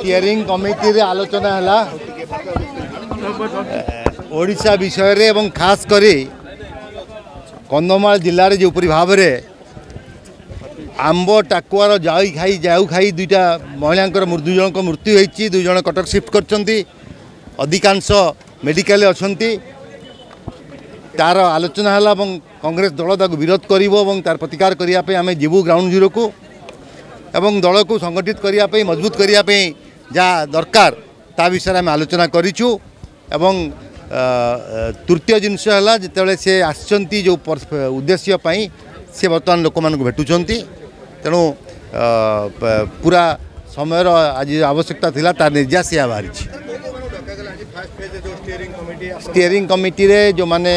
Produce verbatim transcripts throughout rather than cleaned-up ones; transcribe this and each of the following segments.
Steering କମିଟିରେ ଆଲୋଚନା ହେଲା ଓଡ଼ିଶା ବିଷୟରେ ଏବଂ ଖାସ କରି କନ୍ଧମାଳ ଜିଲ୍ଲାରେ ଯେଉଁପରି ଭାବରେ ଆମ୍ବ ଟାକୁଆର ଜାଉ ଖାଇ ଜାଉ ଖାଇ ଦୁଇଟା ମହିଳାଙ୍କର ଦୁଇ ଜଣଙ୍କ ମୃତ୍ୟୁ ହୋଇଛି, ଦୁଇ ଜଣ କଟକ ସିଫ୍ଟ କରିଛନ୍ତି, ଅଧିକାଂଶ ମେଡ଼ିକାଲରେ ଅଛନ୍ତି, ତାର ଆଲୋଚନା ହେଲା ଏବଂ କଂଗ୍ରେସ ଦଳ ତାକୁ ବିରୋଧ କରିବ ଏବଂ ତାର ପ୍ରତିକାର କରିବା ପାଇଁ ଆମେ ଯିବୁ ଗ୍ରାଉଣ୍ଡ ଜିରୋକୁ ଏବଂ ଦଳକୁ ସଂଗଠିତ କରିବା ପାଇଁ, ମଜବୁତ କରିବା ପାଇଁ ଯାହା ଦରକାର ତା ବିଷୟରେ ଆମେ ଆଲୋଚନା କରିଛୁ। ଏବଂ ତୃତୀୟ ଜିନିଷ ହେଲା, ଯେତେବେଳେ ସେ ଆସିଛନ୍ତି ଯେଉଁ ଉଦ୍ଦେଶ୍ୟ ପାଇଁ, ସେ ବର୍ତ୍ତମାନ ଲୋକମାନଙ୍କୁ ଭେଟୁଛନ୍ତି। ତେଣୁ ପୁରା ସମୟର ଆଜି ଆବଶ୍ୟକତା ଥିଲା, ତାର ନିର୍ଯାସ ଏହା ବାହାରିଛି। ଷ୍ଟିୟରିଂ କମିଟିରେ ଯେଉଁମାନେ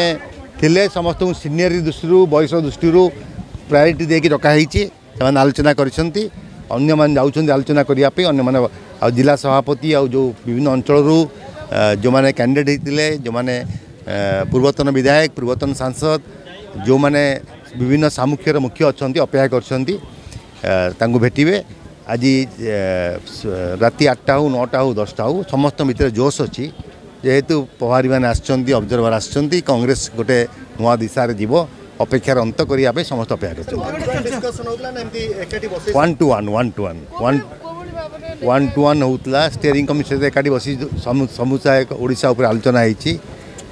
ଥିଲେ ସମସ୍ତଙ୍କୁ ସିନିୟର ଦୃଷ୍ଟିରୁ, ବୟସ ଦୃଷ୍ଟିରୁ ପ୍ରାୟୋରିଟି ଦେଇକି ଡକା ହେଇଛି। ସେମାନେ ଆଲୋଚନା କରିଛନ୍ତି, ଅନ୍ୟମାନେ ଯାଉଛନ୍ତି ଆଲୋଚନା କରିବା ପାଇଁ। ଅନ୍ୟମାନେ ଆଉ ଜିଲ୍ଲା ସଭାପତି ଆଉ ଯେଉଁ ବିଭିନ୍ନ ଅଞ୍ଚଳରୁ ଯେଉଁମାନେ କ୍ୟାଣ୍ଡିଡେଟ୍ ହେଇଥିଲେ, ଯେଉଁମାନେ ପୂର୍ବତନ ବିଧାୟକ, ପୂର୍ବତନ ସାଂସଦ, ଯେଉଁମାନେ ବିଭିନ୍ନ ସାମୁଖ୍ୟର ମୁଖ୍ୟ ଅଛନ୍ତି, ଅପେକ୍ଷା କରିଛନ୍ତି, ତାଙ୍କୁ ଭେଟିବେ। ଆଜି ରାତି ଆଠଟା ହଉ, ନଅଟା ହଉ, ଦଶଟା ହଉ, ସମସ୍ତଙ୍କ ଭିତରେ ଜୋସ୍ ଅଛି। ଯେହେତୁ ପ୍ରଭାରୀମାନେ ଆସିଛନ୍ତି, ଅବଜର୍ଭର ଆସିଛନ୍ତି, କଂଗ୍ରେସ ଗୋଟେ ନୂଆ ଦିଶାରେ ଯିବ। ଅପେକ୍ଷାର ଅନ୍ତ କରିବା ପାଇଁ ସମସ୍ତେ ଅପେକ୍ଷା କରିଛନ୍ତି। One to one, one to one, one one to one ହେଉଥିଲା। ଷ୍ଟିୟରିଂ କମିଟି ସହିତ ଏକାଠି ବସି ସମୁଦାୟ ଓଡ଼ିଶା ଉପରେ ଆଲୋଚନା ହେଇଛି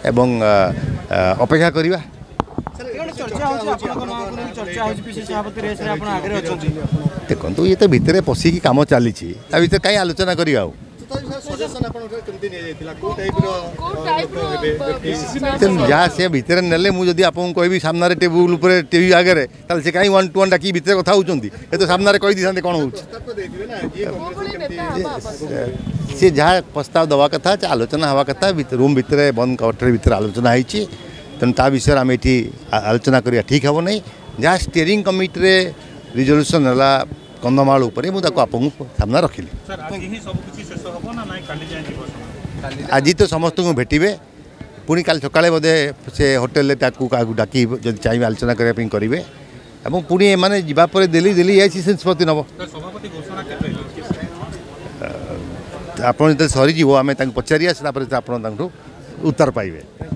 ଏବଂ ଅପେକ୍ଷା କରିବା। ଦେଖନ୍ତୁ, ଇଏ ତ ଭିତରେ ପଶିକି କାମ ଚାଲିଛି, ତା ଭିତରେ କାହିଁ ଆଲୋଚନା କରିବା? ଆଉ ଯାହା ସେ ଭିତରେ ନେଲେ, ମୁଁ ଯଦି ଆପଣଙ୍କୁ କହିବି ସାମ୍ନାରେ ଟେବୁଲ ଉପରେ ଟିଭି ଆଗରେ, ତାହେଲେ ସେ କାହିଁ ୱାନ୍ ଟୁ ୱାନ୍ ଡାକିକି ଭିତରେ କଥା ହେଉଛନ୍ତି? ଏ ତ ସାମ୍ନାରେ କହିଦେଇଥାନ୍ତେ କ'ଣ ହେଉଛି। ସେ ଯାହା ପ୍ରସ୍ତାବ ଦେବା କଥା, ଆଲୋଚନା ହେବା କଥା, ରୁମ୍ ଭିତରେ ବନ୍ଦ କୋଠରୀ ଭିତରେ ଆଲୋଚନା ହେଇଛି। ତେଣୁ ତା ବିଷୟରେ ଆମେ ଏଠି ଆଲୋଚନା କରିବା ଠିକ୍ ହେବ ନାହିଁ। ଯାହା ଷ୍ଟିୟରିଂ କମିଟିରେ ରିଜଲ୍ୟୁସନ୍ ହେଲା କନ୍ଧମାଳ ଉପରେ, ମୁଁ ତାକୁ ଆପଣଙ୍କୁ ସାମ୍ନା ରଖିଲି। ଆଜି ତ ସମସ୍ତଙ୍କୁ ଭେଟିବେ, ପୁଣି କାଲି ସକାଳେ ବୋଧେ ସେ ହୋଟେଲରେ ତାକୁ କାହାକୁ ଡାକି ଯଦି ଚାହିଁବେ ଆଲୋଚନା କରିବା ପାଇଁ କରିବେ ଏବଂ ପୁଣି ଏମାନେ ଯିବା ପରେ ଦିଲ୍ଲୀ ଦିଲ୍ଲୀ ଏଆଇସିସି ନିଷ୍ପତ୍ତି ନେବ। ଆପଣ ଯେତେବେଳେ ସରିଯିବ ଆମେ ତାଙ୍କୁ ପଚାରିବା, ତାପରେ ଆପଣ ତାଙ୍କଠୁ ଉତ୍ତର ପାଇବେ।